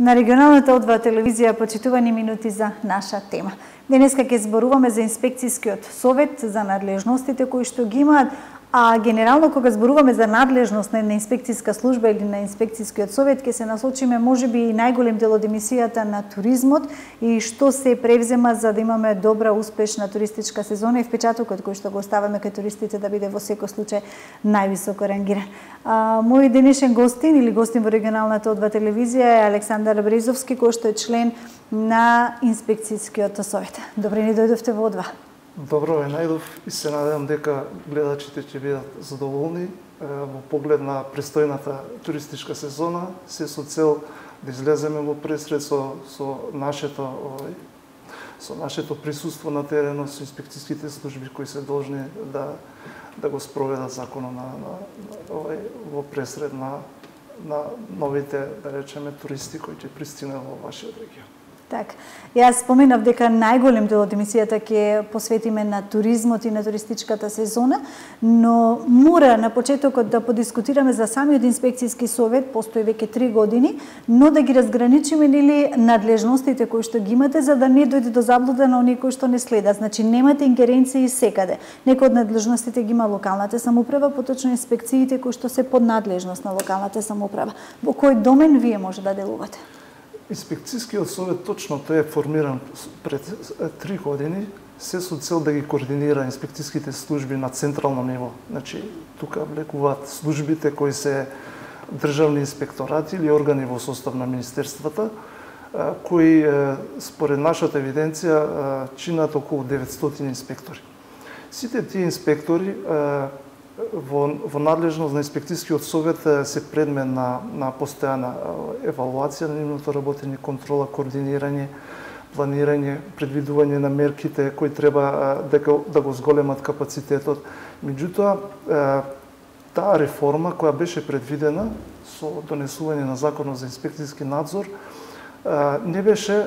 На регионалната одва телевизија почитувани минути за наша тема. Денеска ќе зборуваме за инспекцијскиот совет, за надлежностите кои што ги имаат, а генерално кога зборуваме за надлежност на една инспекцијска служба или на инспекцијскиот совет, ќе се насочиме можеби и најголем дел од емисијата на туризмот и што се превзема за да имаме добра, успешна туристичка сезона и впечатокот кој што го оставаме кај туристите да биде во секој случај највисоко рангиран. Мој денешен гостин или гостин во регионалната одва телевизија е Александар Брезовски, кој што е член на инспекцијскиот совет. Добре ни дојдовте во одва. Добро ве најдов и се надевам дека гледачите ќе бидат задоволни во поглед на престојната туристичка сезона, се со цел да излеземе во пресред со нашето присуство на теренот, со инспекцијските служби кои се должни да го спроведат законот во пресред на новите, да речеме, туристи кои ќе пристигнат во вашиот регион. Так, јас споменав дека најголем дел од емисијата ќе посветиме на туризмот и на туристичката сезона, но мора на почетокот да подискутираме за самиот инспекцијски совет, постои веќе 3 години, но да ги разграничиме нели надлежностите кои што ги имате за да не дојде до заблуда на оние кои што не следат. Значи немате ингеренции секаде. Некои од надлежностите ги има локалната самоуправа, поточно инспекциите кои што се под надлежност на локалната самоуправа. Во кој домен вие може да делувате? Инспекцијскиот совет точно тој е формиран пред 3 години, се со цел да ги координира инспекцијските служби на централно ниво. Значи, тука влекуваат службите кои се државни инспекторати или органи во состав на министерствата, кои според нашата евиденција чинат околу 900 инспектори. Сите тие инспектори во надлежност на инспекцијскиот совет се предмет на постојана евалуација на нивното работење, контрола, координирање, планирање, предвидување на мерките кои треба да го зголемат капацитетот. Меѓутоа, таа реформа која беше предвидена со донесување на законот за инспекцијски надзор не беше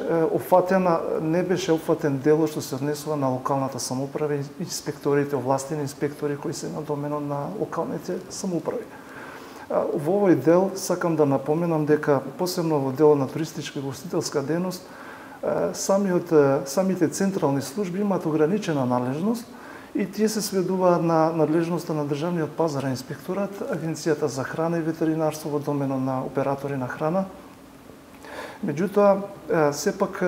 опфатен делот што се однесува на локалната самоуправа и инспекторите, овластени инспектори кои се на доменот на локалните самоуправи. Во овој дел сакам да напоменам дека посебно во делот на туристичка и гостителска дејност самите централни служби имаат ограничена надлежност и тие се сведуваат на надлежноста на државниот пазарен инспекторат, Агенцијата за храна и ветеринарство во доменот на оператори на храна. Меѓутоа, сепак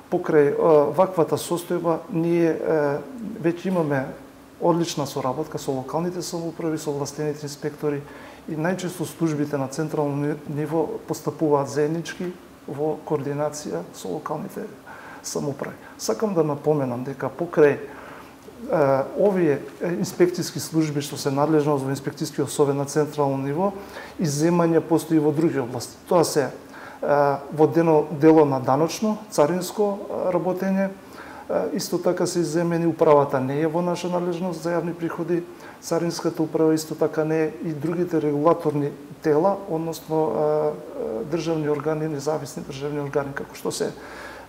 покрај ваквата состојба, ние веќе имаме одлична соработка со локалните самоуправи, со властените инспектори и најчесто службите на централно ниво постапуваат заеднички во координација со локалните самоуправи. Сакам да напоменам дека покрај овие инспекцијски служби што се надлежност во инспекцијскиот совет на централно ниво, изземања постои во други области. Тоа се во дело на даночно, царинско работење, исто така се изземени, управата не е во наша надлежност за јавни приходи, царинската управа исто така не е и другите регулаторни тела, односно државни органи, независни државни органи, како што се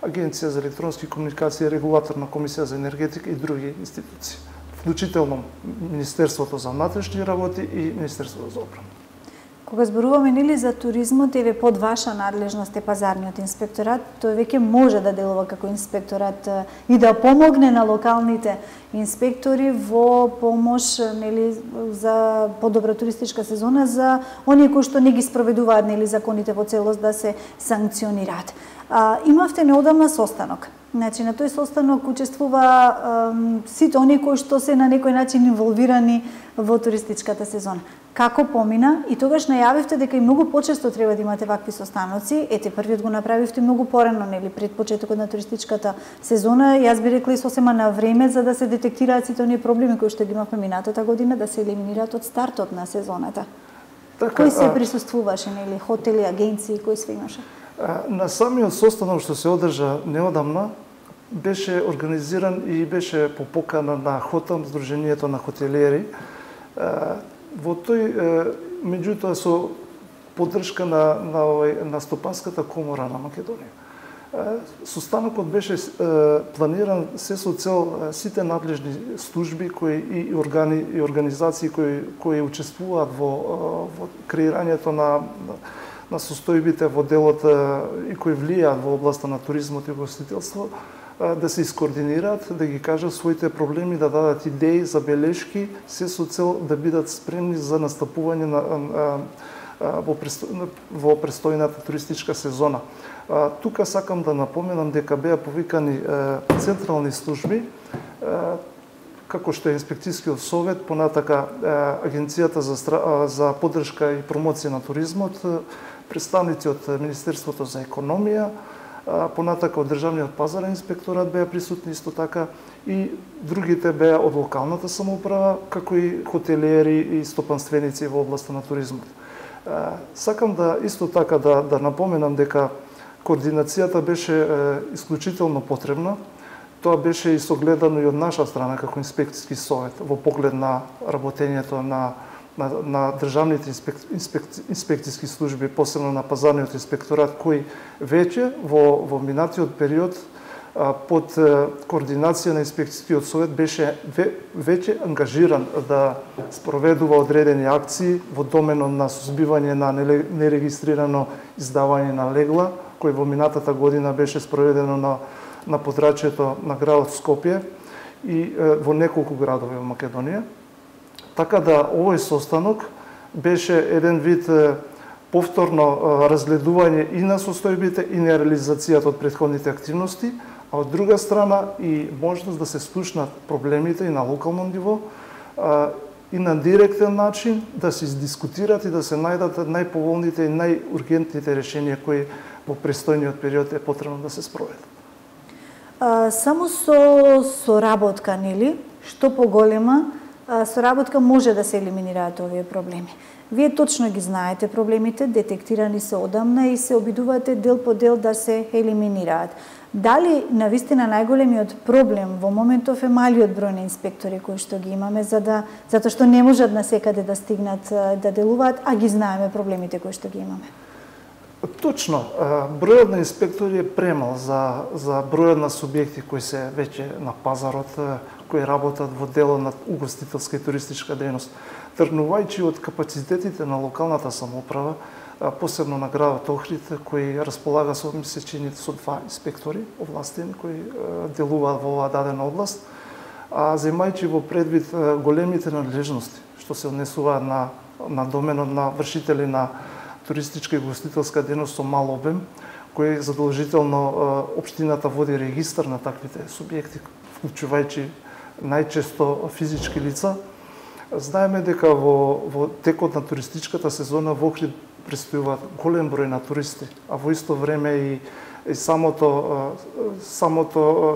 Агенција за електронски комуникации, Регулаторна комисија за енергетика и други институции, вклучително Министерството за внатрешни работи и Министерството за одбрана. Кога зборуваме нели за туризмот, еве под ваша надлежност е пазарниот инспекторат, тој веќе може да делува како инспекторат и да помогне на локалните инспектори во помош нели за подобра туристичка сезона за оние кои што не ги спроведуваат нели законите во целост да се санкционираат. Имавте неодамна состанок. Значи на тој состанок учествува сите оние кои што се на некој начин инволвирани во туристичката сезона. Како помина и тогаш најавивте дека и многу почесто треба да имате вакви состаноци. Ете, првиот го направивте многу порано, нели, пред почетокот на туристичката сезона. Јас би рекла и сосема на време за да се детектираат сите оние проблеми кои што ги имавме минатата година, да се елиминираат од стартот на сезоната. Така, кои се присуствуваше, нели, хотели, агенции, кои све имаше? На самиот состанок што се одржа неодамна беше организиран и беше по покана на ХОТАМ, Сдруженијето на хотелиери. Во тој, меѓутоа, со поддршка на Стопанската комора на Македонија. Состанокот беше планиран се со цел сите надлежни служби и органи и организации кои учествуваат во креирањето на состојбите во делот и кои влијаат во областа на туризмот и гостителство, да се искоординираат, да ги кажат своите проблеми, да дадат идеи, забелешки, се со цел да бидат спремни за настапување во престојната туристичка сезона. Тука сакам да напоменам дека беа повикани централни служби, како што е Инспекцијскиот совет, понатака Агенцијата за поддршка и промоција на туризмот, представници од Министерството за економија, понатака од Државниот пазарен инспекторат беа присутни исто така и другите беа од локалната самоуправа, како и хотелиери и стопанственици во областа на туризмот. Сакам да исто така да напоменам дека координацијата беше исклучително потребна. Тоа беше и согледано и од наша страна како инспекцијски совет во поглед на работењето на државните инспекцијски служби, посебно на пазарниот инспекторат, кој веќе во минатиот период под координација на инспекцијскиот совет беше веќе ангажиран да спроведува одредени акции во доменот на сузбивање на нерегистрирано издавање на легла, кој во минатата година беше спроведено на подрачјето на градот Скопје и во неколку градови во Македонија. Така да овој состанок беше еден вид повторно разгледување и на состојбите и на реализацијата од претходните активности, а од друга страна и можност да се слушнат проблемите и на локално ниво и на директен начин да се издискутират и да се најдат најповолните и најургентните решенија кои во престојниот период е потребно да се спроведат. Само со соработка, нели, што поголема соработка може да се елиминираат овие проблеми. Вие точно ги знаете проблемите, детектирани се одамна и се обидувате дел по дел да се елиминираат. Дали навистина најголемиот проблем во моментов е малиот број на инспектори кои што ги имаме, затоа што не можат на секаде да стигнат да делуваат, а ги знаеме проблемите кои што ги имаме? Точно, бројот на инспектори е премал за бројот на субјекти кои се веќе на пазарот, кои работат во дело на угостителска и туристичка дејност. Тргнувајќи од капацитетите на локалната самоуправа, посебно на градот Охрид, кој располага со со 2 инспектори овластени кои делуваат во оваа дадена област, а земајќи во предвид големите надлежности што се однесуваат на доменот на вршители на туристичка и гостителска дејност со мал обем, кој задолжително општината води регистар на таквите субјекти, вклучувајќи најчесто физички лица. Знаеме дека во текот на туристичката сезона во Охрид престојуваат голем број на туристи, а во исто време и самото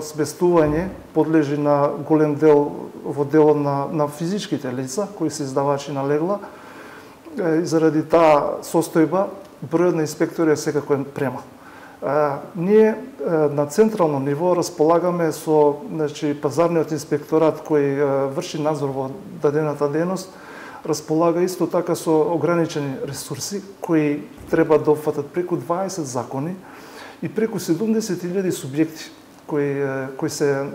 сместување подлежи на голем дел во делот на физичките лица кои се издавачи на легла. И заради таа состојба бројот на инспектори е секако премал. Ние на централно ниво располагаме со пазарниот инспекторат кој врши надзор во дадената дејност, располага исто така со ограничени ресурси кои треба да опфатат преку 20 закони и преку 70.000 субјекти кои се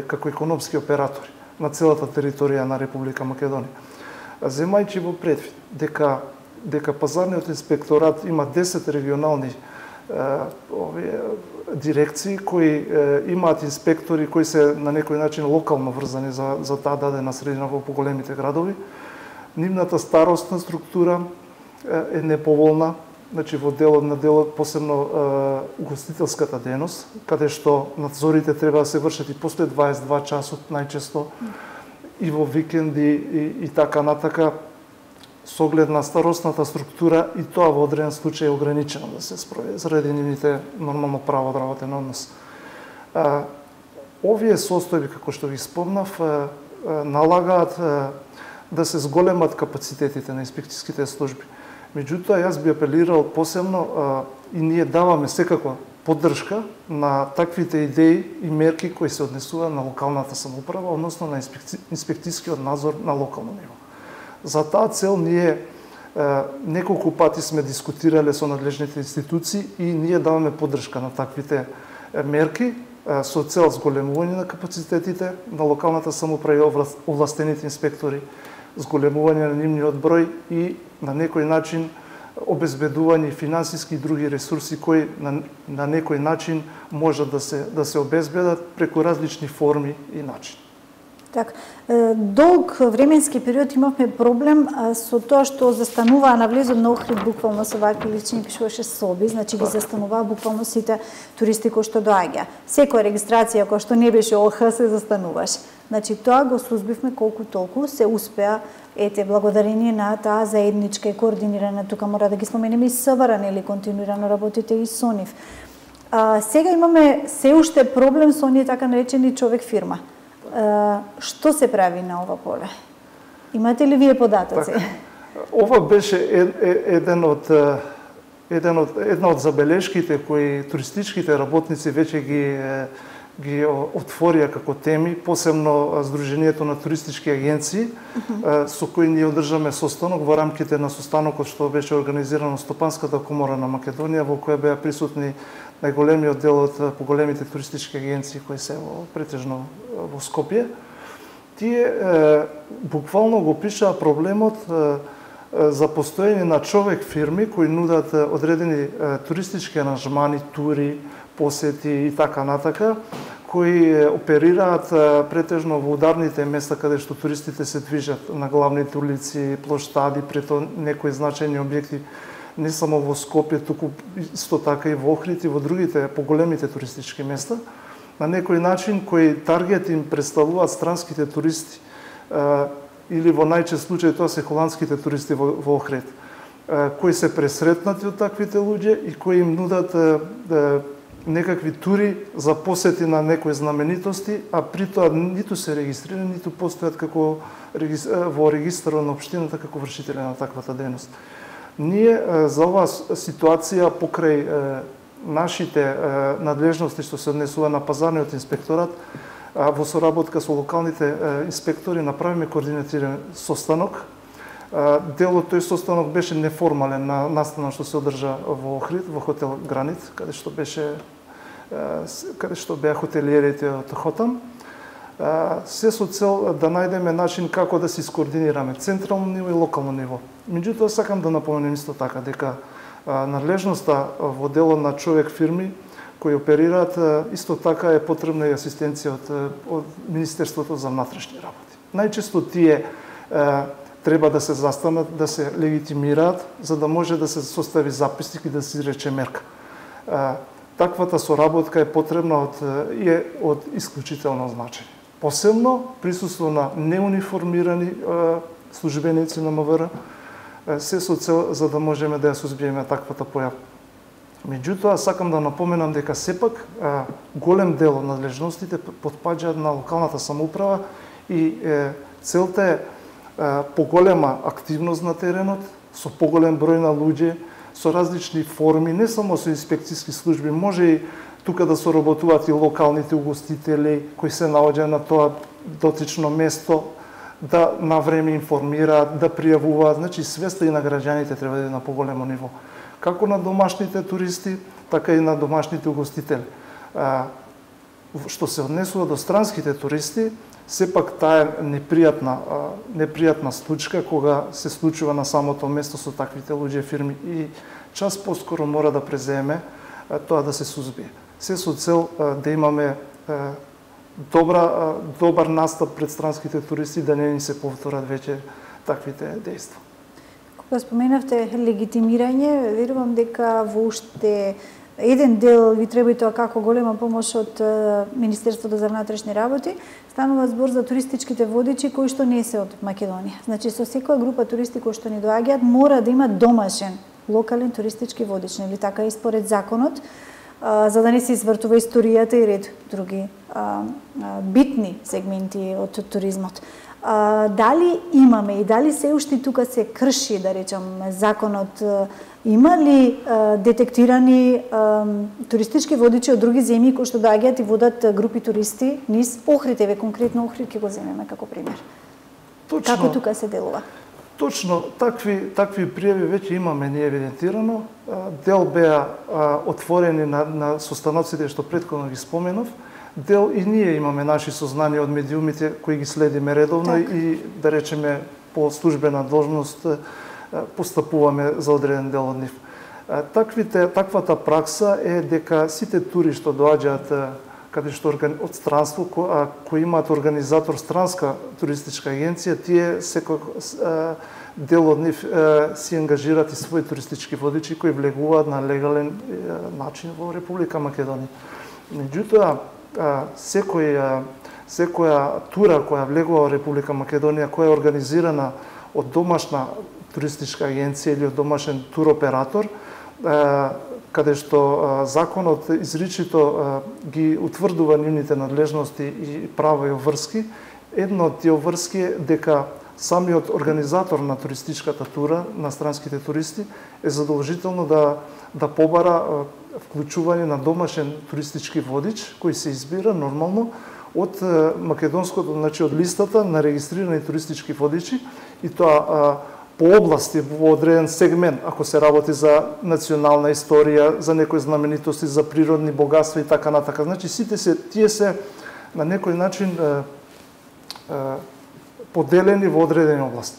како економски оператори на целата територија на Република Македонија. Земајќи во предвид дека пазарниот инспекторат има 10 регионални дирекции кои имаат инспектори кои се на некој начин локално врзани за таа дадена средина во поголемите градови, нивната старосна структура е неповолна, значи во делот посебно угостителската дејност, каде што надзорите треба да се вршат и после 22 часот најчесто и во викенди и така натака, со оглед на старосната структура и тоа во одреден случај е ограничено да се спроведе заради нивните нормално право да работен однос. Овие состојби, како што ви спомнав, налагаат да се зголемат капацитетите на инспекцијските служби. Меѓутоа, јас би апелирал посебно и ние даваме секако поддршка на таквите идеи и мерки кои се однесуваат на локалната самоуправа, односно на инспекцијскиот надзор на локално ниво. За таа цел ние неколку пати сме дискутирале со надлежните институции и ние даваме поддршка на таквите мерки со цел зголемување на капацитетите на локалната самоуправа и овластените инспектори, зголемување на нивниот број и на некој начин обезбедување финансиски и други ресурси кои на некој начин можат да се обезбедат преку различни форми и начини. Така, долг временски период имавме проблем со тоа што застануваа на влезот на Охрид буквално со вакви лични пишуваше соби, значи ги застануваа буквално сите туристи кои што доаѓа. Секоја регистрација која што не беше ОХ се застануваше. Значи тоа го сузбивме колку толку, се успеа благодарение на таа заедничка и координирана, тука мора да ги споменеме и СВР, нели континуирано работите и со нив. Сега имаме се уште проблем со оние така наречени човек фирма. Што се прави на ова поле? Имате ли вие податоци? Ова беше една од забелешките кои туристичките работници веќе ги отворија како теми, посебно Сдруженијето на туристички агенции, со кои ние одржаме состанок во рамките на состанокот што беше организирано Стопанската комора на Македонија, во која беа присутни најголемиот дел од поголемите туристички агенции кои се претежно во Скопје. Тие буквално го пишаа проблемот за постоење на човек фирми кои нудат одредени туристички аранжмани, тури, посети и така натака, кои оперираат претежно во ударните места каде што туристите се движат на главните улици, плоштади, прето некои значајни објекти, не само во Скопје, туку исто така и во Охрид и во другите поголемите туристички места, на некој начин кој таргет им представуваат странските туристи или во најчест случај тоа се холандските туристи во Охрид, кои се пресретнати од таквите луѓе и кои им нудат некакви тури за посети на некои знаменитости, а при тоа ниту се регистрирани, ниту постојат како во регистарот на општината како вршители на таквата дејност. Ние за оваа ситуација покрај нашите надлежности што се однесува на пазарниот инспекторат, во соработка со локалните инспектори направиме координативен состанок. Дел од тој состанок беше неформален на настанот што се одржа во Охрид, во хотел Гранит, каде што беа хотелиерите од Хотам. Се со цел да најдеме начин како да се искоординираме централно ниво и локално ниво. Меѓутоа сакам да напоменем исто така дека надлежноста во делот на човек фирми кои оперираат исто така е потребна и асистенција од Министерството за внатрешни работи. Најчесто тие треба да се застанат, да се легитимираат, за да може да се состави записник и да се изрече мерка. Таквата соработка е потребна од исклучително значење. Посебно присуство на неуниформирани службеници на МВР, се со цел за да можеме да ја сузбиеме таквата појава. Меѓутоа, сакам да напоменам дека сепак голем дел од надлежностите потпаѓаат на локалната самоуправа и целта е поголема активност на теренот, со поголем број на луѓе, со различни форми, не само со инспекцијски служби, може и тука да соработуваат и локалните угостители кои се наоѓаат на тоа дотично место, да на време информираат, да пријавуваат, значи свеста и на граѓаните треба да е на поголемо ниво. Како на домашните туристи, така и на домашните угостители. Што се однесува до странските туристи, сепак таа е непријатна случка кога се случува на самото место со таквите луѓе фирми и час поскоро мора да преземе тоа да се сузбие. Се со цел да имаме добар настап пред странските туристи, да не ни се повторат веќе таквите дејства. Кога споменавте легитимирање, верувам дека во уште еден дел ви треба и тоа како голема помош од Министерството за внатрешни работи, станува збор за туристичките водичи кои што не се од Македонија. Значи со секоја група туристи кои што ни доаѓаат мора да има домашен локален туристички водич, нели така и според законот, за да не се извртува историјата и ред други битни сегменти од туризмот. Дали имаме и дали се уште тука се крши, да речам, законот? Има ли детектирани туристички водичи од други земји кои што доаѓаат и водат групи туристи низ Охрид, еве конкретно Охрид ќе го земеме како пример? Точно. Како тука се делува? Точно, такви пријави веќе имаме ние евидентирано. Дел беа отворени на состаноците што претходно ги споменав. Дел и ние имаме наши сознанија од медиумите кои ги следиме редовно и да речеме по службена должност постапуваме за одреден дел од нив. Таквата пракса е дека сите тури што доаѓаат каде што од странство, кои имаат организатор странска туристичка агенција, тие секој дел од нив си ангажираат и своји туристички водичи кои влегуваат на легален начин во Република Македонија. Меѓутоа, секоја тура која влегува во Република Македонија, која е организирана од домашна туристичка агенција или од домашен туроператор, каде што законот изричито ги утврдува нивните надлежности и права и обврски, едно од тие обврски е дека самиот организатор на туристичката тура, на странските туристи, е задолжително да побара вклучување на домашен туристички водич, кој се избира нормално од македонското, значи од листата на регистрирани туристички водичи, и тоа по области во одреден сегмент, ако се работи за национална историја, за некои знаменитости, за природни богатства и така натака. Значи сите тие се на некој начин поделени во одредени области.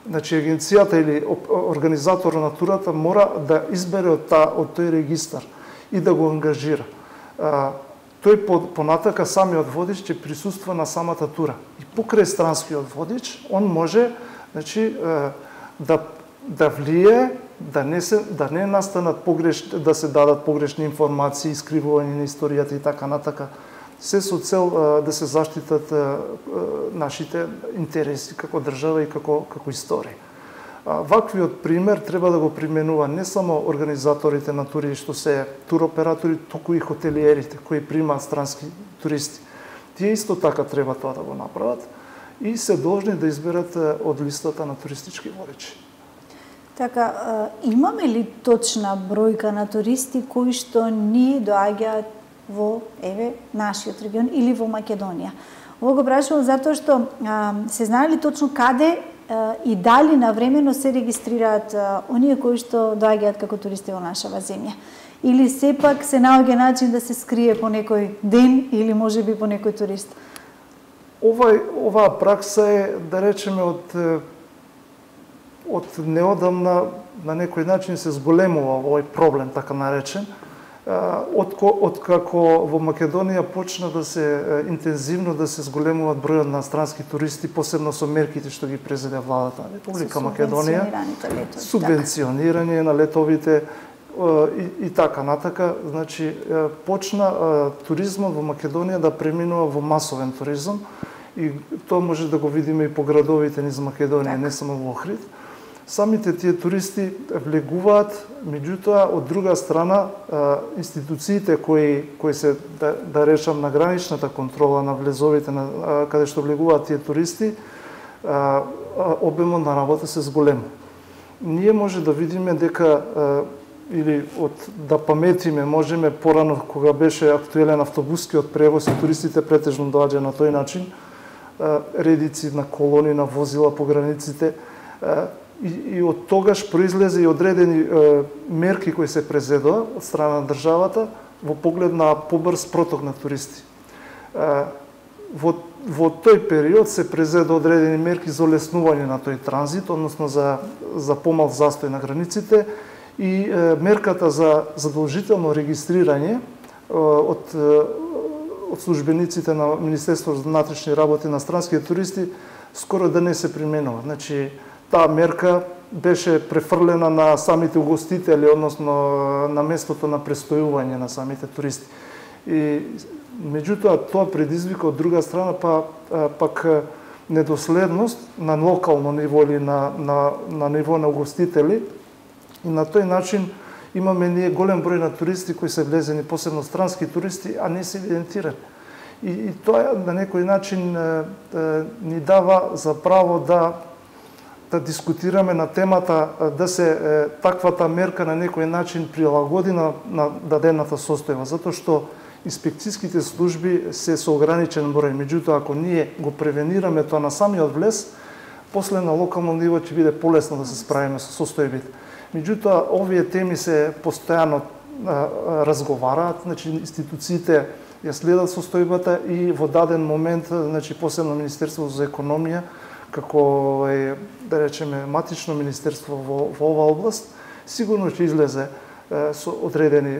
Значи агенцијата или организатор на турата мора да избере од тој регистар и да го ангажира. Тој понатака самиот водич ќе присуства на самата тура. И покрај странскиот водич, он може, значи, да влие, да не настанат да се дадат погрешни информации, искривување на историјата и така натака. Се со цел да се заштитат нашите интереси како држава и како историја. Ваквиот пример треба да го применува не само организаторите на тури што се туроператори, туку и хотелиерите кои примаат странски туристи. Тие исто така треба тоа да го направат и се должни да изберат од листата на туристички водичи. Така, имаме ли точна бројка на туристи кои што ни доаѓаат во нашиот регион или во Македонија? Ово го прашувам затоа што се знае ли точно каде и дали навремено се регистрираат оние кои што доаѓаат како туристи во нашава земја? Или сепак се наоѓа начин да се скрие по некој ден или можеби по некој турист? Оваа пракса е, да речеме, од неодамна на некој начин се зголемува овој проблем, така наречен, откако во Македонија почна да се интензивно да се зголемуваат бројот на странски туристи, посебно со мерките што ги презеде владата на Република Македонија, субвенционирање на летовите и така натака. Значи, почна туризмот во Македонија да преминува во масовен туризам и тоа може да го видиме и по градовите низ Македонија, не само во Охрид. Самите тие туристи влегуваат, меѓутоа, од друга страна, институциите кои се, да речам, на граничната контрола на влезовите, каде што влегуваат тие туристи, обемот на работа се зголема. Ние може да видиме дека, или да паметиме, можеме порано, кога беше актуелен автобускиот превоз и туристите претежно доаѓа на тој начин, редици на колони, на возила по границите, и од тогаш произлезе и одредени мерки кои се презедоа од страна на државата во поглед на побрз проток на туристи. Во тој период се презедоа одредени мерки за олеснување на тој транзит, односно за помал застој на границите, и мерката за задолжително регистрирање од службениците на Министерството за внатрешни работи на странските туристи скоро да не се применува. Значи, таа мерка беше префрлена на самите угостители, односно на местото на престојување на самите туристи. И меѓутоа тоа предизвика од друга страна пак недоследност на локално ниво или на ниво на угостители, и на тој начин имаме ние голем број на туристи кои се влезени, посебно странски туристи, а не се евидентирани. И тоа на некој начин ни дава за право да дискутираме на темата да се таквата мерка на некој начин прилагоди на дадената состојба, затоа што инспекцијските служби се со ограничен број. Меѓутоа, ако ние го превенираме тоа на самиот влез, после на локално ниво ќе биде полесно да се справиме со состојбите. Меѓутоа, овие теми се постојано разговараат, значи институциите ја следат состојбата и во даден момент, значи посебно Министерството за економија, како да речеме матично министерство во оваа област, сигурно ќе излезе со одредени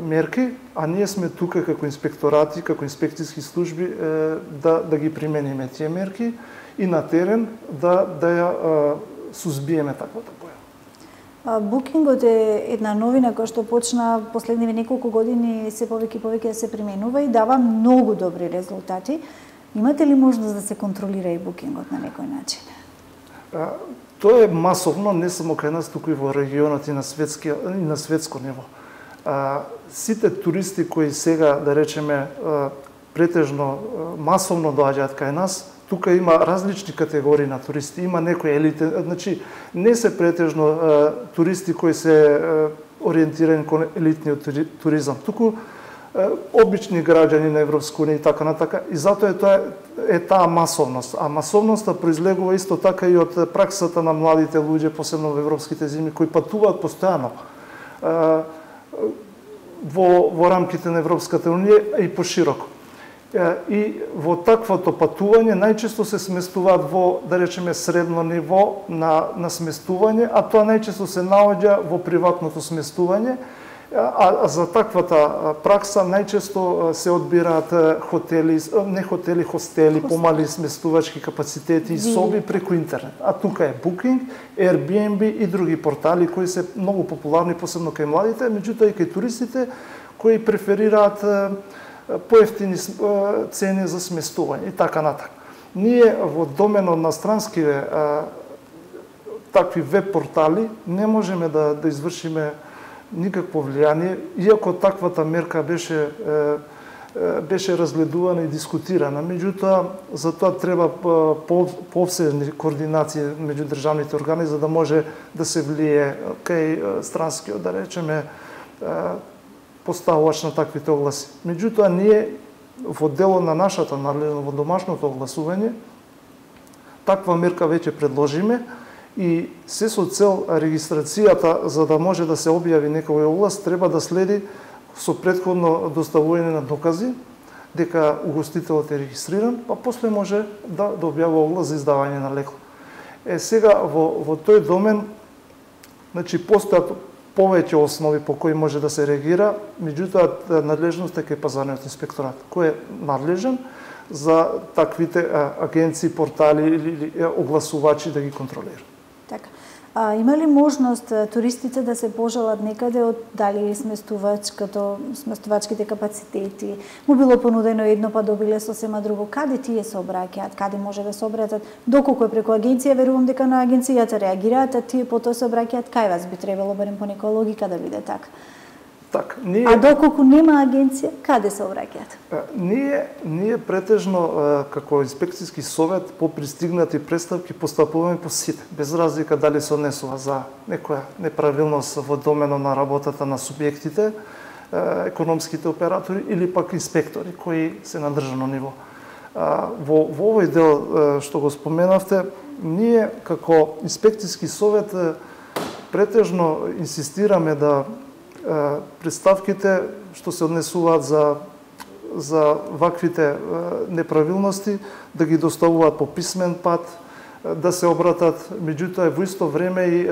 мерки, а ние сме тука како инспекторати, како инспекцијски служби да ги примениме тие мерки и на терен да ја сузбиеме таквата појава. Букингот е една новина која што почна последниве неколку години се повеќе и повеќе да се применува и дава многу добри резултати. Имате ли можност да се контролира и букингот на некој начин? Тоа е масовно, не само кај нас, туку и во регионот и на светско ниво. Сите туристи кои сега, да речеме, претежно масовно доаѓаат кај нас, тука има различни категории на туристи. Има некои елите, значи не се претежно туристи кои се ориентирани кон елитниот туризам, туку обични граѓани на Европска унија и така натака. И затоа е таа масовност. А масовноста произлегува исто така и од праксата на младите луѓе, посебно во европските земји, кои патуваат постојано во рамките на Европската унија и пошироко. И во таквото патување најчесто се сместуваат во, да речеме, средно ниво на сместување, а тоа најчесто се наоѓа во приватното сместување. А за таквата пракса најчесто се одбираат хотели, не хотели, хостели, помали сместувачки капацитети и соби преку интернет. А тука е Booking, Airbnb и други портали кои се многу популарни, посебно кај младите, меѓутоа и кај туристите кои преферираат поевтини цени за сместување и така натака. Ние во доменот на странскиве такви веб портали не можеме да извршиме никакво влијание, иако таквата мерка беше разгледувана и дискутирана. Меѓутоа, за тоа треба пообседни координации меѓу државните органи за да може да се влие кај странскиот, да речеме, поставувач на таквите огласи. Меѓутоа, ние во дело на нашата надлежност во домашното огласување, таква мерка веќе предложиме и се со цел регистрацијата, за да може да се објави некој оглас, треба да следи со претходно доставување на докази дека угостителот е регистриран, па после може да објавува оглас за издавање на лекла. Сега во тој домен, значи постојат повеќе основи по кои може да се реагира, меѓутоа надлежноста е кај пазарниот инспекторат, кој е надлежен за таквите агенции, портали или огласувачи да ги контролира. Така. Има ли можност туристите да се пожалат некаде од дали сместувачките капацитети, му било понудено едно па добиле сосема друго, каде тие се обраќаат, каде може да се обратат, доколку е преку агенција, верувам дека на агенцијата реагираат, а тие потоа се обраќаат кај вас, би требало барем по некоја логика да биде така. Так, А доколку нема агенција, каде се обраќаат? Ние претежно како инспекцијски совет по пристигнати представки постапуваме по сите, без разлика дали се однесува за некоја неправилност во доменот на работата на субјектите, економските оператори или пак инспектори кои се на државно ниво. Во овој дел што го споменавте, ние како инспекцијски совет претежно инсистираме да представките што се однесуваат за ваквите неправилности да ги доставуваат по писмен пат, да се обратат, меѓутоа во исто време и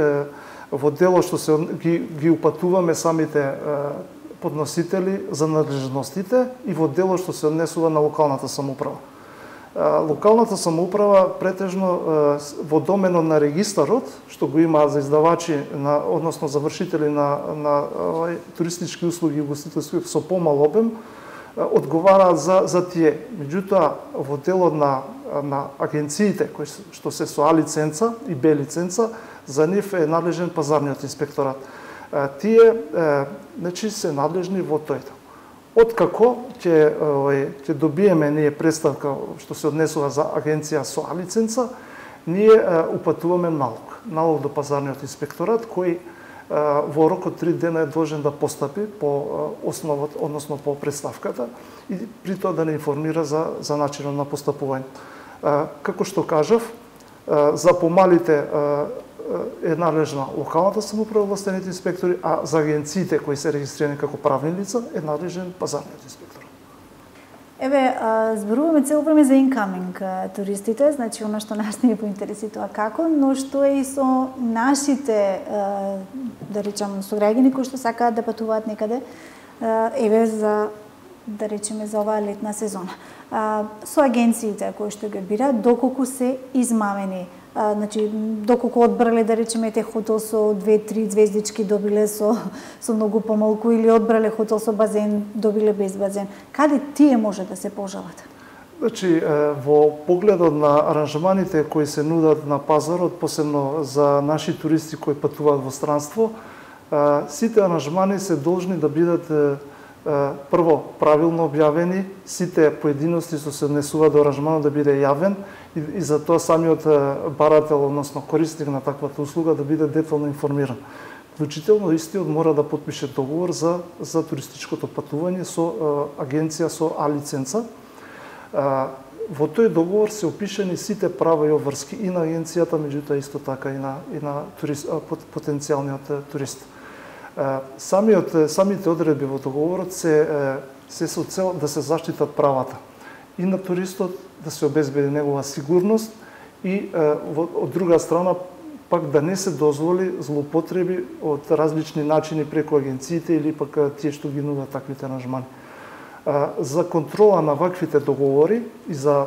во дело што се ги упатуваме самите подносители за надлежностите и во дело што се однесува на локалната самоуправа. Локалната самоуправа претежно во доменот на регистарот, што го има за издавачи, односно за вршители на туристички услуги и угостителски со помал обем, одговараат за тие. Меѓутоа, во делот на агенциите, кои што се со А лиценца и Б лиценца, за нив е надлежен пазарниот инспекторат. Тие, значи, се надлежни во тој. Откако ќе добиеме ние представка што се однесува за агенција со А лиценца, ние упатуваме налог до пазарниот инспекторат кој во рок од 3 дена е должен да постапи по основот, односно по представката и при тоа да не информира за начинот на постапување. Како што кажав, за помалите е надлежна локалната самоуправа, властените инспектори, а за агенциите кои се регистрирани како правни лица е надлежен пазарниот инспектор. Еве, зборуваме цело време за incoming туристите, значи она што нас не поинтересува како, но што е и со нашите, да речам, сограѓани кои што сакаат да патуваат некаде, еве за, да речеме, за оваа летна сезона. Со агенциите кои што ги бираат, доколку се измамени, значи доколку одбрале, да речеме, те хотел со 2-3 звездички добиле со многу помалку, или одбрале хотел со базен, добиле без базен. Каде тие може да се пожалат? Значи, во погледот на аранжманите кои се нудат на пазарот, посебно за наши туристи кои патуваат во странство, сите аранжмани се должни да бидат прво правилно објавени, сите поединости што се однесуваат до аранжманот да биде јавен и за тоа самиот барател, односно корисник на таквата услуга да биде детално информиран. Вклучително истиот мора да потпише договор за туристичкото патување со агенција со А лиценца. Во тој договор се опишани сите права и обврски и на агенцијата, меѓутоа исто така и на потенцијалниот турист. Самите одредби во договорот се со цел да се заштитат правата и на туристот, да се обезбеди негова сигурност и од друга страна пак да не се дозволи злоупотреби од различни начини преку агенциите или пак тие што ги нудат таквите аранжмани. За контрола на ваквите договори и за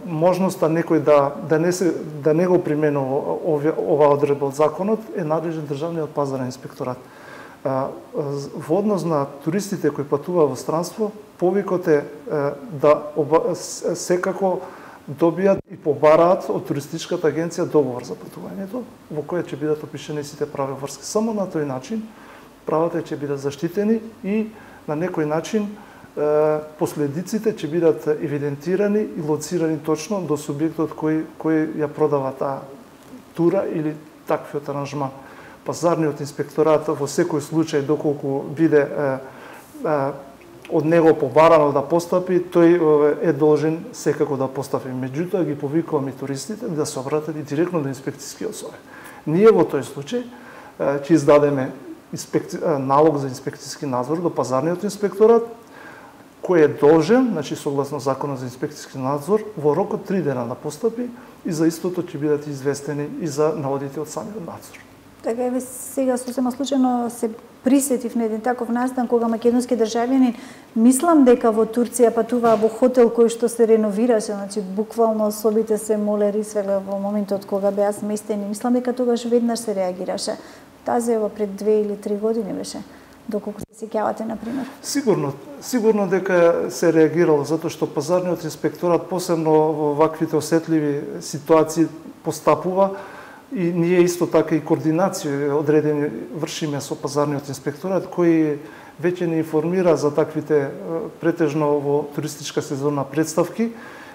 можноста некој да не го применува оваа одредба од законот е надлежен државниот пазарен инспекторат. Во однос на туристите кои патуваат во странство, повикот е да секако добијат и побараат од туристичката агенција договор за патувањето, во кој ќе бидат опишени сите прави врски. Само на тој начин правата ќе бидат заштитени и на некој начин последиците ќе бидат евидентирани и лоцирани точно до субјектот кој ја продава таа тура или таквиот аранжман. Пазарниот инспекторат во секој случај, доколку биде од него побарано да постапи, тој е должен секако да постапи. Меѓутоа ги повикуваме и туристите да се обратат и директно до инспекциски особи. Ние во тој случај ќе издадеме налог за инспекциски надзор до пазарниот инспекторат, кој е должен, значи согласно законот за инспекциски надзор, во рок од 3 дена да постапи и за истото ќе бидат известени и за наводите од самиот надзор. Така еве сега сосема случајно се присетив на еден таков настан кога македонски државјанин, мислам дека во Турција патуваа во хотел кој што се реновираше, значи буквално особите се молери свеле во моментот кога беа сместени. Мислам дека тогаш веднаш се реагираше. Тази ево пред 2 или 3 години беше, доколку се сеќавате, например. Сигурно дека се реагирало, затоа што пазарниот инспекторат посебно во ваквите осетливи ситуации постапува и ние исто така и координација одредени вршиме со пазарниот инспекторат кој веќе не информира за таквите претежно во туристичка сезонна представки.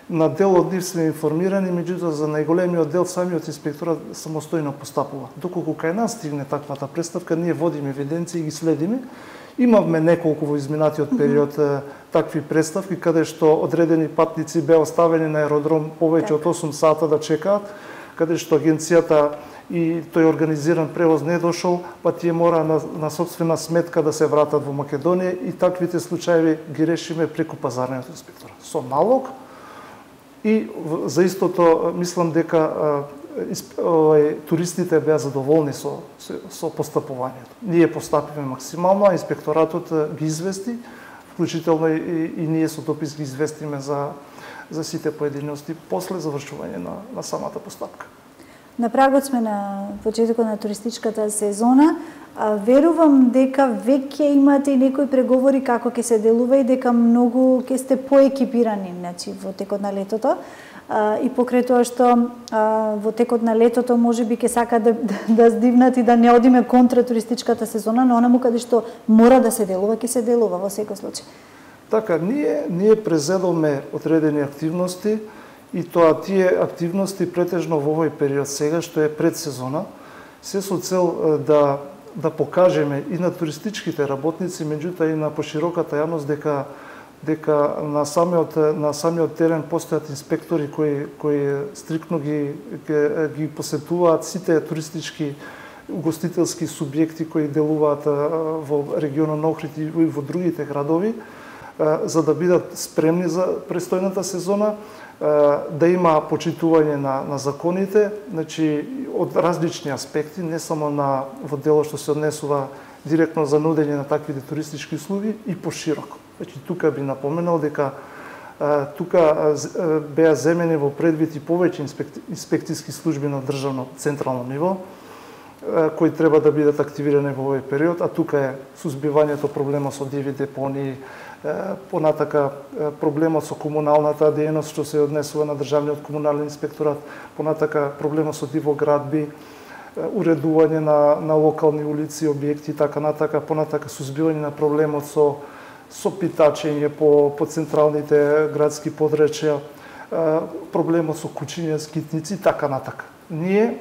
На дел од нив сме информирани, меѓутоа за најголемиот дел самиот инспекторат самостојно постапува. Доколку кај нас стигне таквата представка, ние водиме евиденции и ги следиме. Имавме неколку во изминатиот период такви представки каде што одредени патници беа оставени на аеродром повеќе од 8 сата да чекаат, каде што агенцијата и тој организиран превоз не дошол, па тие мора на сопствена сметка да се вратат во Македонија и таквите случаи ги решиме преку пазарниот инспекторат. Со налог. И за истото мислам дека туристите беа задоволни со постапувањето. Ние постапиме максимално, а инспекторатот ги извести, вклучително и ние со допис ги известиме за сите поединости после завршување на самата постапка. На прагот сме на почетокот на туристичката сезона. Верувам дека веќе имате и некои преговори како ќе се делува и дека многу ќе сте поекипирани, значи во текот на летото. И покрај тоа што во текот на летото можеби ќе сака да здивнат и да не одиме контра туристичката сезона, но онаму каде што мора да се делува, ќе се делува во секој случај. Така, ние презедоме одредени активности и тоа тие активности претежно во овој период сега што е предсезона, се со цел да покажеме и на туристичките работници, меѓутоа и на пошироката јавност дека на самиот терен постојат инспектори кои стриктно ги посетуваат сите туристички угостителски субјекти кои делуваат во регионот на Охрид и во другите градови. за да бидат спремни за престојната сезона, да има почитување на законите, значи од различни аспекти, не само во делот што се однесува директно за нудење на таквите туристички услуги и пошироко. Значи тука би напоменал дека тука беа земени во предвид и повеќе инспекцијски служби на државно централно ниво, кои треба да бидат активирани во овој период, а тука е сузбивањето проблемот со диви депонии, понатака проблемот со комуналната дејност што се однесува на државниот комунален инспекторат, понатака проблемот со дивоградби, уредување на локални улици, објекти и така натака, понатака сузбивање на проблемот со питачење по централните градски подречја, проблемот со кучиња, скитници и така натака. Ние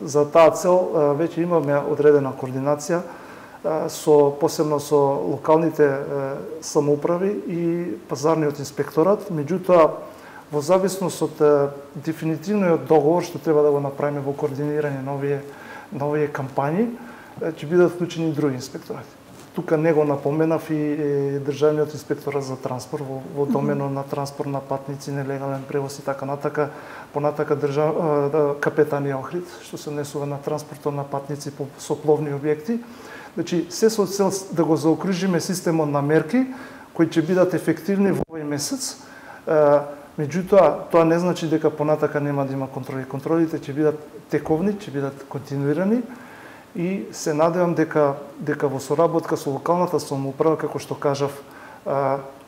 за таа цел веќе имаме одредена координација посебно со локалните самоуправи и пазарниот инспекторат, меѓутоа во зависност од дефинитивниот договор што треба да го направиме во координирање на овие кампањи, ќе бидат вклучени и други инспекторати. Тука не го напоменав и државниот инспекторат за транспорт во доменот на транспорт на патници, нелегален превоз и така натака, понатака капетанија Охрид, што се однесува на транспортот на патници со пловни објекти. Значи, се со цел да го заокружиме системот на мерки кои ќе бидат ефективни во овој месец. Меѓутоа, тоа не значи дека понатака нема да има контроли. Контролите ќе бидат тековни, ќе бидат континуирани и се надевам дека во соработка со локалната самоуправа, како што кажав,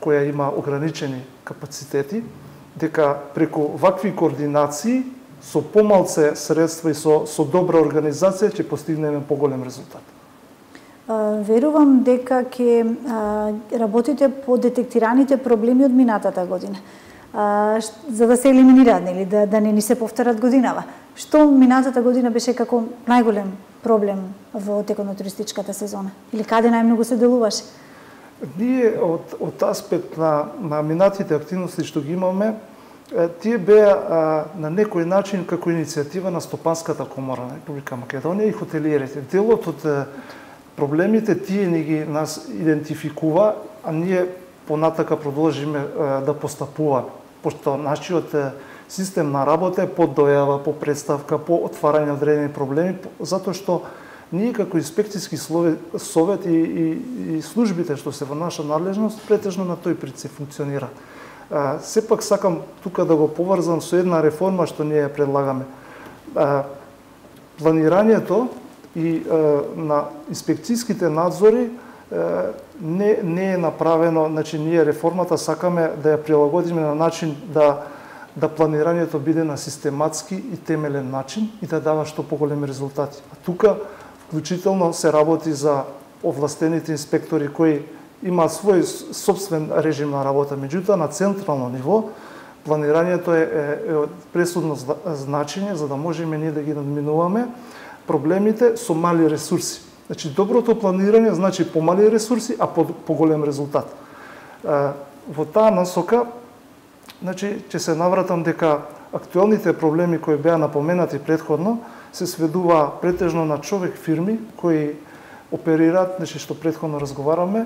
која има ограничени капацитети, дека преку вакви координации со помалце средства и со добра организација ќе постигнеме поголем резултат. Верувам дека ќе работите по детектираните проблеми од минатата година, за да се елиминираат, нели, да не ни се повторат годинава. Што минатата година беше како најголем проблем во текот на туристичката сезона? Или каде најмногу се делуваше? Ние од аспект на минатите активности што ги имаме, тие беа на некој начин како иницијатива на Стопанската комора на Република Македонија и хотелиерите. Делот од проблемите тие ни нас идентификува, а ние понатака продолжиме да постапуваме, пошто нашиот систем на работа е по дојава, по представка, по отварање одредени проблеми, затоа што ние како инспекцијски совет и службите што се во наша надлежност претежно на тој принцип функционира. Сепак сакам тука да го поврзам со една реформа што ние предлагаме. Планирањето и на инспекцијските надзори не е направено, значи ние реформата сакаме да ја прилагодиме на начин да планирањето биде на систематски и темелен начин и да дава што поголеми резултати. А тука вклучително се работи за овластените инспектори кои имаат свој собствен режим на работа, меѓутоа на централно ниво планирањето е од пресудно значење за да можеме ние да ги надминуваме проблемите со мали ресурси. Значи, доброто планирање значи помали ресурси, а поголем резултат. Во таа насока, значи, ќе се навратам дека актуелните проблеми кои беа напоменати претходно се сведува претежно на човек фирми кои оперираат, значи што претходно разговараме,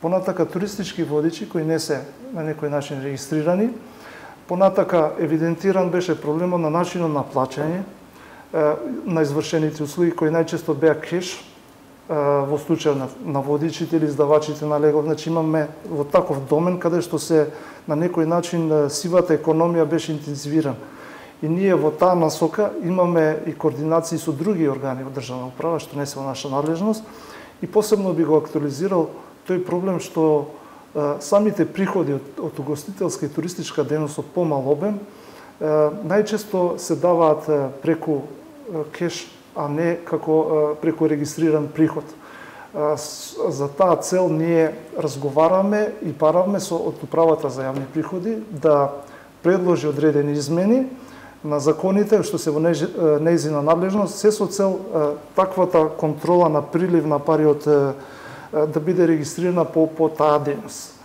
понатака туристички водичи кои не се на некој начин регистрирани, понатака евидентиран беше проблемот на начинот на плаќање, на извршените услуги кои најчесто беа кеш, во случај на водичите или издавачите на легла. Значи имаме во таков домен каде што се на некој начин сивата економија беше интензивирана. И ние во таа насока имаме и координации со други органи во државна управа што не се во наша надлежност и посебно би го актуализирал тој проблем што самите приходи од угостителска и туристичка дејност од помал обем најчесто се даваат преку кеш, а не како преку регистриран приход. За таа цел ние разговараме и бараме од Управата за јавни приходи да предложи одредени измени на законите што се во нејзина надлежност, се со цел таквата контрола на прилив на пари да биде регистрирана по таа дејност.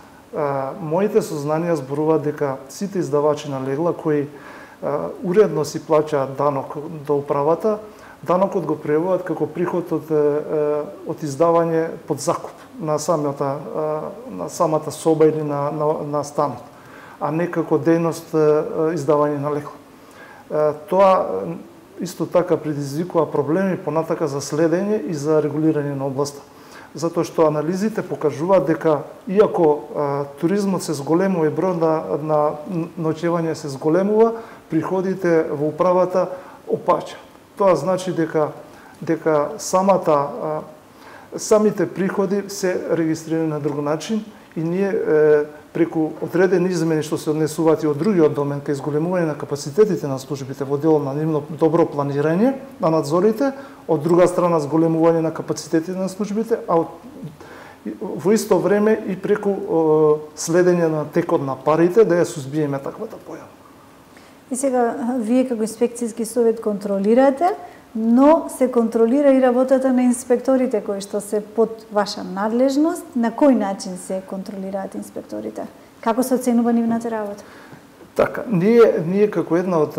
Моите сознанија зборуваат дека сите издавачи на легла кои уредно си плаќаат данок до управата, данокот го преводат како приход од издавање под закуп. на самата соба или на станот, а не како дејност издавање на лекови. Тоа исто така предизвикува проблеми понатака за следење и за регулирање на областа. Затоа што анализите покажуваат дека иако туризмот се зголемува и бројот на ноќевање се зголемува, приходите во управата опаѓа. Тоа значи дека самите приходи се регистрирани на друг начин и ние преку одредени измени што се однесуваат и од другиот домен кај зголемување на капацитетите на службите во делот на нивно добро планирање на надзорите, од друга страна зголемување на капацитетите на службите, а во исто време и преку следење на текот на парите да ја сузбиеме таквата појава. И сега вие како инспекцијски совет контролирате, но се контролира и работата на инспекторите кои што се под ваша надлежност. На кој начин се контролираат инспекторите? Како се оценува нивната работа? Така, ние како една од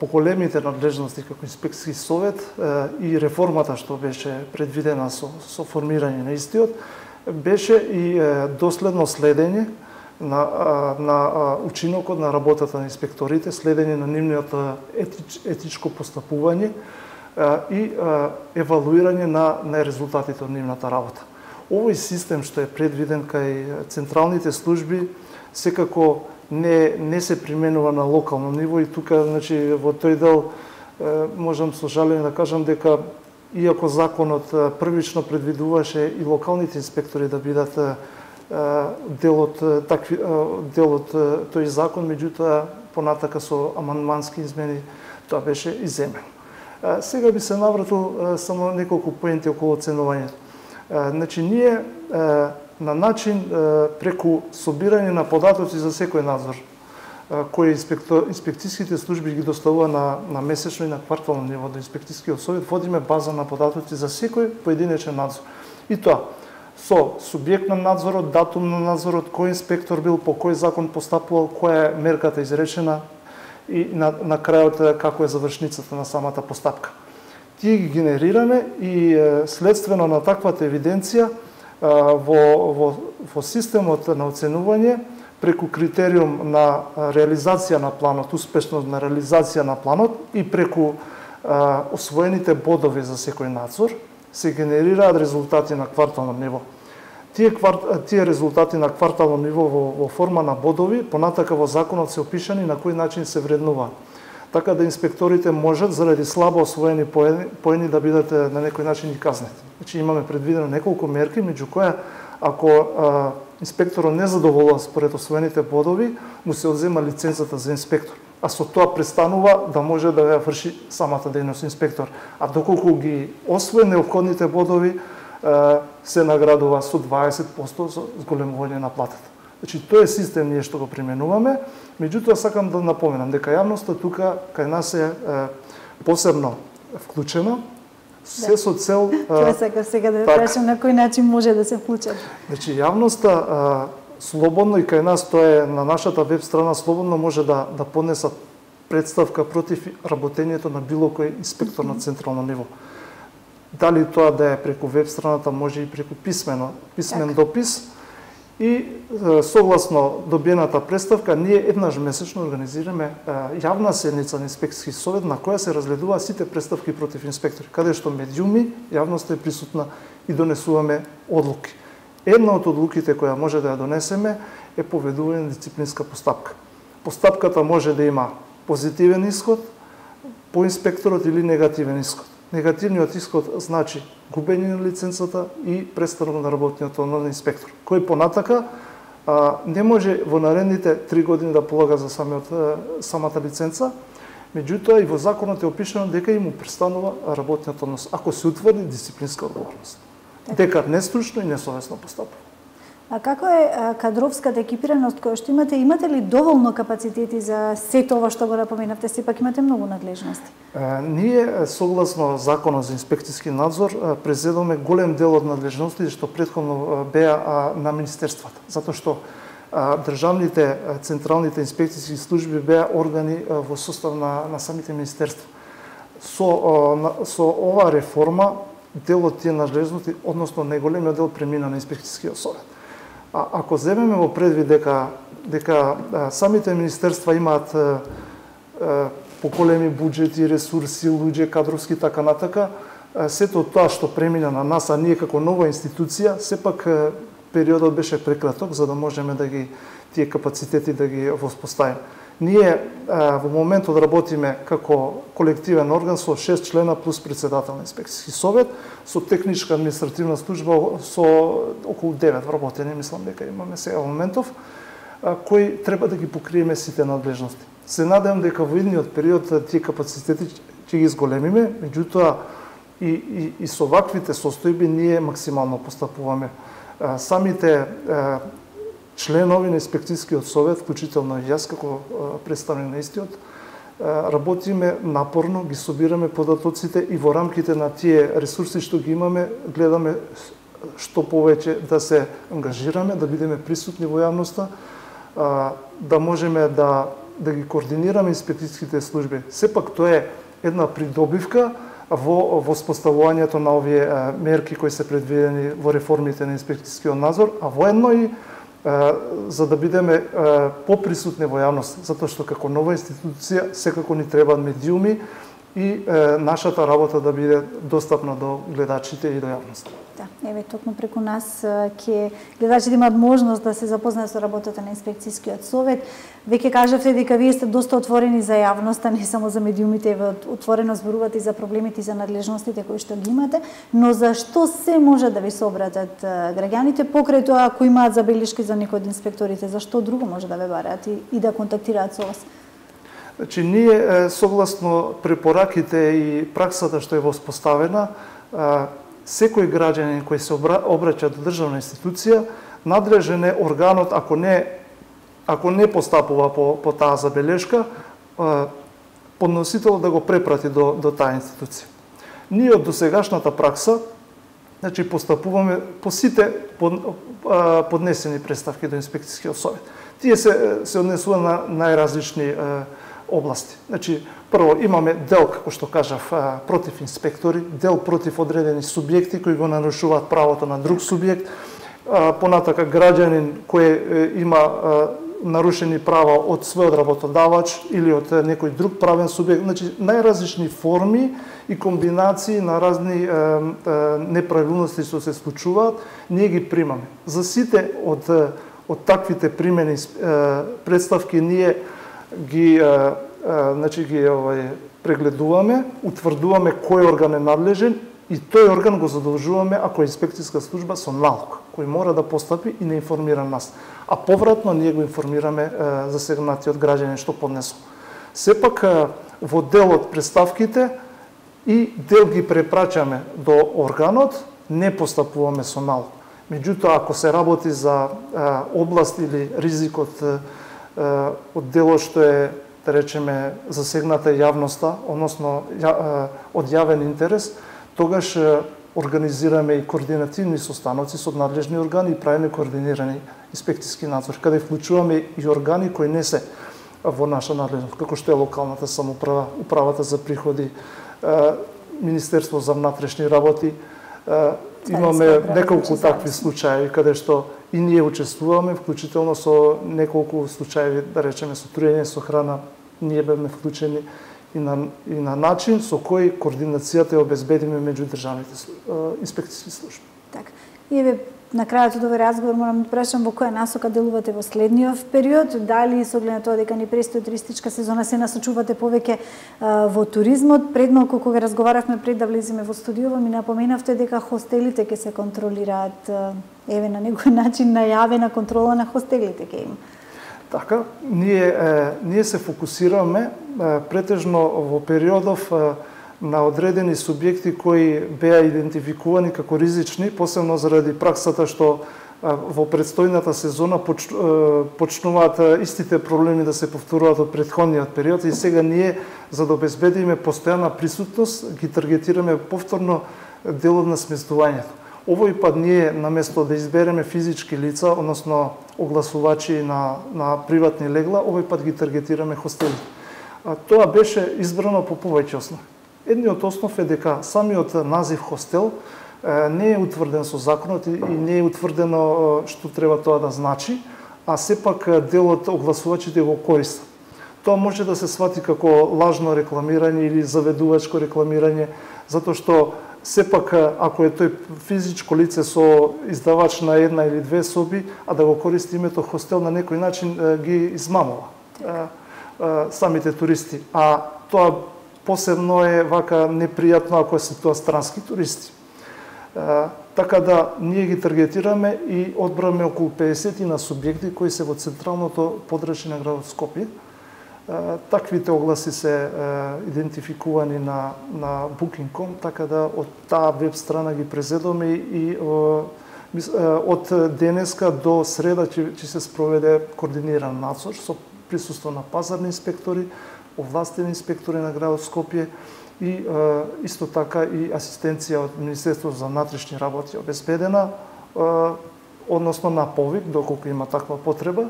поголемите надлежности како инспекцијски совет и реформата што беше предвидена со формирање на истиот, беше и доследно следење на учинокот на работата на инспекторите, следење на нивниот етичко постапување и евалуирање на резултатите од нивната работа. Овој систем што е предвиден кај централните служби секако не се применува на локално ниво и тука, значи, во тој дел можам со жалење да кажам дека иако законот првично предвидуваше и локалните инспектори да бидат дел од тој закон, меѓутоа понатака со амандмански измени тоа беше иземено. Сега би се навратил само неколку поенти околу оценувањето. Значи, ние на начин преку собирање на податоци за секој надзор, кои инспекцијските служби ги доставува на месечно и на квартално ниво до инспекцијскиот совет, водиме база на податоци за секој поединечен надзор. И тоа со субјект на надзорот, датум на надзорот, кој инспектор бил, по кој закон постапувал, која е мерката изречена и на крајот како е завршницата на самата постапка. Тие ги генерираме и следствено на таквата евиденција во системот на оценување преку критериум на реализација на планот, успешност на реализација на планот и преку освоените бодови за секој надзор се генерираат резултати на квартално ниво. Тие резултати на квартално ниво во форма на бодови понатака во законот се опишани на кој начин се вреднува. Така да инспекторите можат заради слабо освоени поени да бидат на некој начин и казнети. Значи имаме предвидено неколку мерки, меѓу која ако инспекторот не задоволува според освоените бодови, му се одзема лиценцата за инспектор. А со тоа престанува да може да ја врши самата дејност инспектор. А доколку ги освои неопходните бодови, се наградува со 20% за зголемување на платата. Значи, тој е систем ние што го применуваме, меѓутоа сакам да напоменам дека јавноста тука кај нас е посебно вклучена, се со цел... Тоа сакам сега да прашам на кој начин може да се вклучат. Значи, јавноста слободно и кај нас, тоа е на нашата веб страна, слободно може да поднесат представка против работењето на било кој инспектор на централно ниво. Дали тоа да е преку веб страната, може и преку писмен допис. И согласно добиената представка, ние еднаш месечно организираме јавна седница на инспекцијски совет на која се разгледуваат сите представки против инспектори, каде што медиуми, јавноста е присутна и донесуваме одлуки. Една од одлуките која може да ја донесеме е поведување на дисциплинска постапка. Постапката може да има позитивен исход по инспекторот или негативен исход. Негативниот исход значи губење на лиценцата и престанок на работниот однос на инспектор, кој понатака не може во наредните 3 години да полага за самата лиценца, меѓутоа и во законот е опишано дека им престанува работниот однос ако се утврди дисциплинска одговорност. Дека нестручно и несовесно постапува. А како е кадровската екипираност која што имате? Имате ли доволно капацитети за сето ова што го напоменавте? Сепак имате многу надлежности. Ние, согласно Законот за инспекцијски надзор, презедоме голем дел од надлежностите што претходно беа на министерствата. Затоа што државните, централните инспекцијски служби беа органи во состав на самите министерства. Со оваа реформа дел од тие надлежности, односно најголемиот дел премина на инспекцијскиот совет. А ако земеме во предвид дека самите министерства имаат поголеми буџети, ресурси, луѓе, кадровски така натака, сето тоа што премина на нас, а ние како нова институција, сепак периодот беше прекраток за да можеме да ги тие капацитети да ги воспоставиме. Ние во моментот работиме како колективен орган со 6 члена плюс председател на инспекцијски совет, со техничка административна служба со околу 9 вработени, мислам дека имаме сега во моментов, кои треба да ги покриеме сите надлежности. Се надевам дека во идниот период тие капацитети ќе ги зголемиме, меѓутоа и со ваквите состојби ние максимално постапуваме. Самите членови на инспекцијскиот совет, вклучително и јас како представник на истиот, работиме напорно, ги собираме податоците и во рамките на тие ресурси што ги имаме, гледаме што повеќе да се ангажираме, да бидеме присутни во јавноста, да можеме да ги координираме инспекцијските служби. Сепак тоа е една придобивка во воспоставувањето на овие мерки кои се предвидени во реформите на инспекцијскиот надзор, а воедно и за да бидеме поприсутни во јавност, затоа што како нова институција секако ни требаат медиуми и нашата работа да биде достапна до гледачите и до јавноста. Да, еве токму преку нас ќе гледачите имаат можност да се запознаат со работата на инспекцијскиот совет. Веќе кажавте дека вие сте доста отворени за јавноста, не само за медиумите, еве отворено зборувате и за проблемите и за надлежностите кои што ги имате, но за што се може да ви се обратат граѓаните покрај тоа ако имаат забелешки за некој од инспекторите, за што друго може да ве бараат и да контактираат со вас? Значи, ние, согласно препораките и праксата што е воспоставена, секој граѓанин кој се обраќа до државна институција, надлежен е органот, ако не постапува по таа забелешка, подносителот да го препрати до таа институција. Ние од досегашната пракса, значи, постапуваме по сите поднесени представки до инспекцијскиот совет. Тие се однесува на најразлични области. Значи, прво имаме дел, како што кажав, против инспектори, дел против одредени субјекти кои го нарушуваат правото на друг субјект, понатака граѓанин кој има нарушени права од својот работодавач или од некој друг правен субјект, значи најразлични форми и комбинации на разни неправилности што се случуваат, ние ги примаме. За сите од таквите примени представки ние ги прегледуваме, утврдуваме кој орган е надлежен и тој орган го задолжуваме ако е инспекцијска служба со налог, кој мора да постапи и не информира нас. А повратно ние го информираме засегнатиот граѓанин што поднесол. Сепак во дел од представките и дел ги препрачаме до органот, не постапуваме со налог. Меѓутоа, ако се работи за област или ризикот од делот што е, да речеме, засегната јавноста, односно од јавен интерес, тогаш организираме и координативни состаноци со надлежни органи и правиме координирани инспекцијски надзор, каде вклучуваме и органи кои не се во наша надлежност, како што е локалната самоуправа, управата за приходи, Министерство за внатрешни работи. Имаме неколку такви случаи каде што и ние учествуваме, вклучително со неколку случаи, да речеме, со труење со храна, ние бевме вклучени и на начин со кој координацијата ја обезбедиме меѓу државните инспекцијски служби. Така. И еве на крајот од овој разговор морам да прашам во која насока делувате во следниот период, дали со оглед на тоа дека ни престои туристичка сезона се насочувате повеќе во туризмот. Пред малку кога разговаравме пред да влеземе во студиово ми напоменавте дека хостелите ќе се контролираат, еве на некој начин најавена контрола на хостелите ќе има. Така, ние се фокусираме претежно во периодов на одредени субјекти кои беа идентификувани како ризични, посебно заради праксата што во предстојната сезона почнуваат истите проблеми да се повторуваат од претходниот период и сега ние, за да обезбедиме постојана присутност, ги таргетираме повторно делот на сместувањето. Овој пат ние, наместо да избереме физички лица, односно огласувачи на приватни легла, овој пат ги таргетираме хостели. Тоа беше избрано по повеќе основи. Едниот основ е дека самиот назив хостел не е утврден со законот и не е утврдено што треба тоа да значи, а сепак дел од огласувачите го користат. Тоа може да се свати како лажно рекламирање или заведувачко рекламирање, затоа што сепак ако е тој физичко лице со издавач на една или две соби, а да го користи името хостел, на некој начин ги измамува самите туристи. А тоа посебно е вака непријатно ако се тоа странски туристи. Така да ние ги таргетираме и одбраме околу 50 на субјекти кои се во централното подрачје на градот Скопје. Таквите огласи се идентификувани на Booking.com, така да од таа веб страна ги презедоме и од денеска до среда ќе се спроведе координиран надзор со присуство на пазарни инспектори, овластени инспектори на градот Скопје и исто така и асистенција од Министерството за внатрешни работи обезбедена, односно на повик, доколку има таква потреба.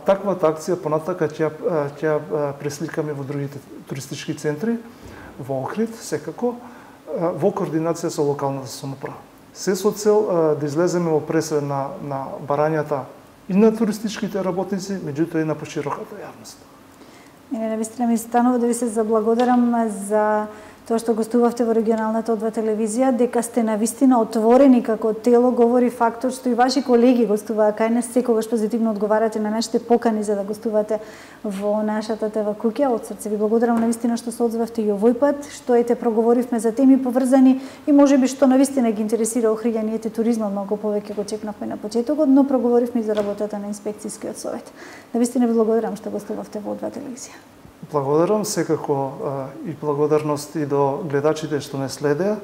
Таквата акција понатака ќе пресликаме во другите туристички центри, во Охрид, секако, во координација со локалната самоуправа. Се со цел да излеземе во пресед на барањата и на туристичките работници, меѓутоа и на пошироката јавност. Навистина ми станува да ви се заблагодарам за тоа што гостувавте во регионалната одва телевизија, дека сте навистина отворени како тело, говори фактот што и ваши колеги гостуваа кај нас, секогаш позитивно одговарате на нашите покани за да гостувате во нашата ТВ куќа. Од срце ви благодарам навистина што се одзвавте и овој пат, што проговоривме за теми поврзани и можеби што навистина ги интересира охриѓаниите туризмот, многу повеќе го чекнавме на почетокот, но проговоривме и за работата на инспекцијскиот совет. Навистина ви благодарам што гостувавте во одва телевизија. Благодарам секако и благодарност и до гледачите што не следеа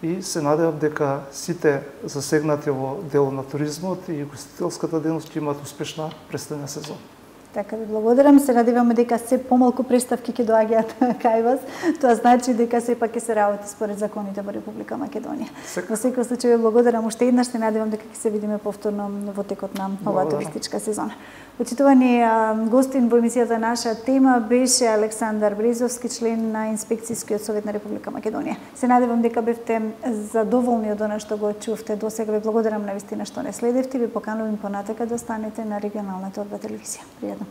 и се надевам дека сите засегнати во делот на туризмот и гостителската дејност ќе имаат успешна престојна сезона. Така ви благодарам, се надеваме дека се помалку представки ќе доаѓаат кај вас. Тоа значи дека сепак ќе се работи според законите во Република Македонија. Во секој случај ви благодарам уште еднаш, се надевам дека ќе се видиме повторно во текот на оваа туристичка сезона. Почитувани гостин во емисијата Наша тема беше Александар Брезовски, член на Инспекцијскиот совет на Република Македонија. Се надевам дека бевте задоволни од она што го чувте досега. Ви благодарам навистина што не следевте и ви поканувам понатака да останете на регионалната одва телевизија. Пријатна